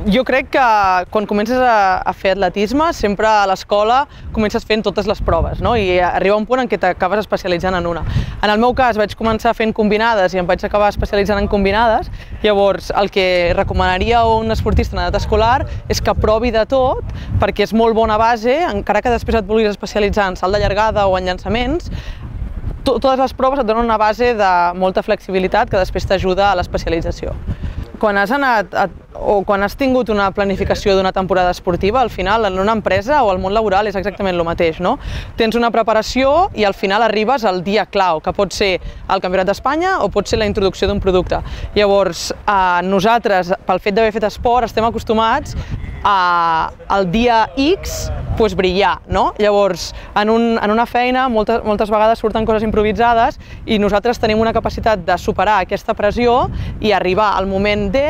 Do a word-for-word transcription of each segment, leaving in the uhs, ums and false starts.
Jo crec que quan comences a, a fer atletisme, sempre a l'escola comences fent totes les proves, no? I arriba un punt en què t'acabes especialitzant en una. En el meu cas vaig començar fent combinades i em vaig acabar especialitzant en combinades, llavors el que recomanaria a un esportista en edat escolar és que provi de tot, perquè és molt bona base, encara que després et vulguis especialitzar en salt de llargada o en llançaments, totes les proves et donen una base de molta flexibilitat que després t'ajuda a l'especialització. Quan has anat a, o quan has tingut una planificació d'una temporada esportiva, al final en una empresa o al món laboral és exactament el mateix, no? Tens una preparació i al final arribes al dia clau, que pot ser el Campionat d'Espanya o pot ser la introducció d'un producte. Llavors, eh, nosaltres, pel fet d'haver fet esport, estem acostumats a, al dia X pues, brillar, no? Llavors, en, un, en una feina moltes, moltes vegades surten coses improvisades i nosaltres tenim una capacitat de superar aquesta pressió i arribar al moment D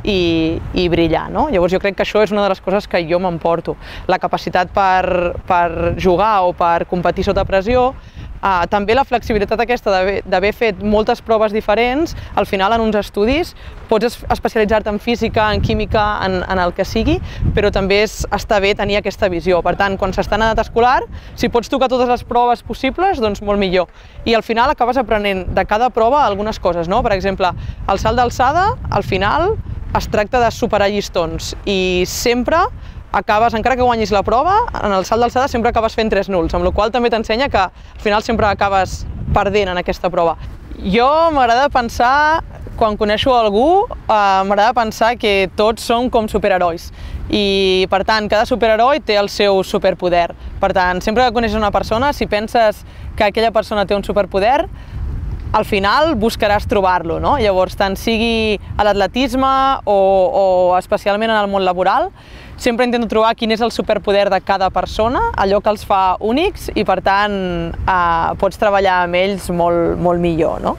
i, i brillar, no? Llavors jo crec que això és una de les coses que jo m'emporto. La capacitat per, per jugar o per competir sota pressió, Uh, també la flexibilitat aquesta d'haver fet moltes proves diferents, al final en uns estudis pots especialitzar-te en física, en química, en, en el que sigui, però també és, està bé tenir aquesta visió. Per tant, quan s'està en edat escolar, si pots tocar totes les proves possibles, doncs molt millor. I al final acabes aprenent de cada prova algunes coses, no? Per exemple, el salt d'alçada, al final, es tracta de superar llistons i sempre acabes, encara que guanyis la prova, en el salt d'alçada sempre acabes fent tres nuls, amb la qual cosa també t'ensenya que al final sempre acabes perdent en aquesta prova. Jo m'agrada pensar, quan coneixo algú, eh, m'agrada pensar que tots som com superherois i per tant cada superheroi té el seu superpoder. Per tant, sempre que coneixes una persona, si penses que aquella persona té un superpoder, al final buscaràs trobar-lo, no? Llavors, tant sigui a l'atletisme o, o especialment en el món laboral, sempre intento trobar quin és el superpoder de cada persona, allò que els fa únics i, per tant, eh, pots treballar amb ells molt, molt millor, no?